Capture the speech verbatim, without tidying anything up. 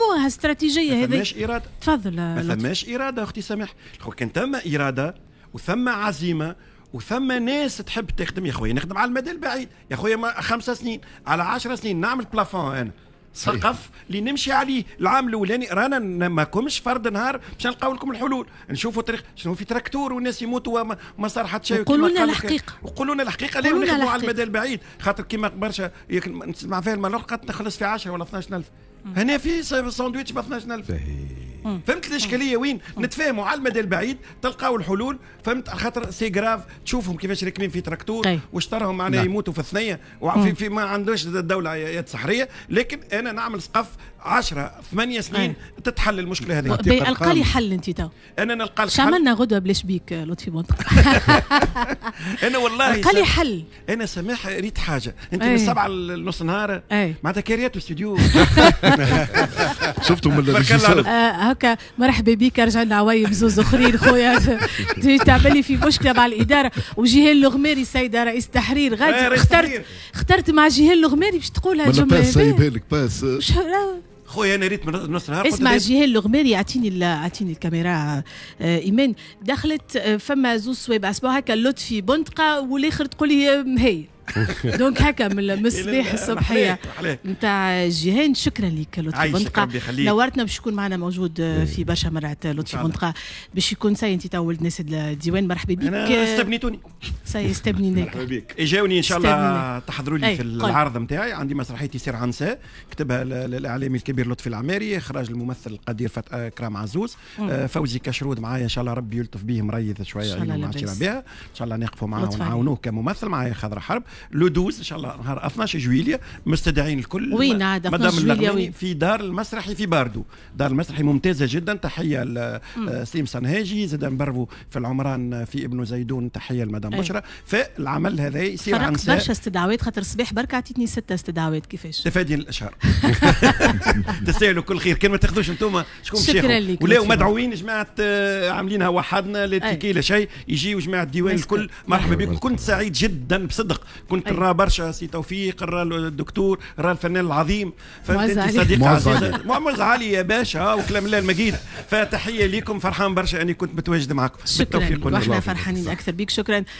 نخدموها استراتيجية ما هذه. فماش اراده. تفضل. ما فماش اراده اختي سامح. كان ثم اراده وثم عزيمة وثم ناس تحب تخدم، يا خويا نخدم على المدى البعيد يا خويا، خمسة سنين، على عشر سنين، نعمل plafond، انا سقف اللي نمشي عليه العام الاولاني. رانا ما كومش فرد نهار باش نلقاو لكم الحلول، نشوفوا طريق شنو في تراكتور والناس يموتوا وما ما صار حتى شيء. وقولوا لنا الحقيقه. وقولوا لنا الحقيقه، ليه نخدموا على المدى البعيد؟ خاطر كيما برشا نسمع فيها المرة نخلص في عشرة ولا اثنا عشر ألف، هنا في ساندويتش ب اثنا عشر ألف. فهمت الاشكالية وين؟ نتفاهموا على المدى البعيد تلقاو الحلول، فهمت؟ خاطر c'est grave، تشوفهم كيفاش راكبين في تراكتور واشترهم معناها نعم. يموتوا في الثنيه، وفي في ما عندوش الدولة يد سحريه. لكن انا نعمل سقف عشرة ثمانية سنين تتحل المشكلة هذه. القى لي حل انت تو. انا نلقى لك. حل عملنا غدوه بلاش بيك لطفي بندقه. انا والله القى لي حل. انا سماح ريت حاجه، انت من السبعة لنص نهار معناتها كاريات استوديو. شفتوا من هكا. مرحبا بك، رجع لنا عوايم زوز اخرين خويا، تعملي في مشكلة مع الاداره. وجيهان الغماري السيدة رئيس التحرير غادي، اخترت اخترت مع جيهان الغماري باش تقولها. الجملة سايبها لك باس. خويا انا ريت من نص نهار. اسمع، جيهان الغماري، اعطيني اعطيني الكاميرا آه، ايمان دخلت آه، فما زوز صوابع اسمه هكا، لطفي بندقه والاخر تقول لي هي، donc هكا من الصباح الصبحية نتاع جيهان. شكرا لك لطفي بندقه، نورتنا. باش يكون معنا موجود في برشا مرات لطفي بندقه، باش يكون سي انت تو ولد ناس الديوان. مرحبا بك. انا استبنيتوني. سي استبنيناك. مرحبا بك. اجاوني ان شاء الله تحضروا لي في العرض نتاعي، عندي مسرحية يصير عنساء، كتبها الاعلامي الكبير لطفي العماري، اخراج الممثل القدير كرام عزوز، آه، فوزي كشرود معايا، ان شاء الله ربي يلطف به، مريض شويه، بها ان شاء الله نقفوا معاه ونعاونوه كممثل. معايا خضر حرب le douze ان شاء الله، نهار اثنا عشر جويليا، مستدعين الكل. وين عاد اثنا عشر جويليا وين؟ في دار المسرحي في باردو، دار المسرحي ممتازة جدا، تحية لسليم صنهاجي. زاد نبرفو في العمران في ابن زيدون، تحية لمدام بشرى. فالعمل هذا يصير عن برشا استدعوات، خاطر الصباح برك عطيتني ستة استدعوات، كيفاش؟ تفادي الاشهار، تستاهلوا كل خير، كان ما تاخذوش انتم شكون؟ شكرا لك. ولاو مدعوين جماعه، آه، عاملينها وحدنا، لا ticket لا شيء، يجيو جماعة الديوان الكل، مرحبا بكم. كنت سعيد جدا بصدق، كنت نرى برشا سي توفيق، نرى الدكتور، نرى الفنان العظيم، فهمت انت صديق عزيز معز علي يا باشا وكلام الله المجيد. فتحيه لكم، فرحان برشا اني كنت متواجد معكم. بالتوفيق. واحنا فرحانين اكثر بك، شكرا.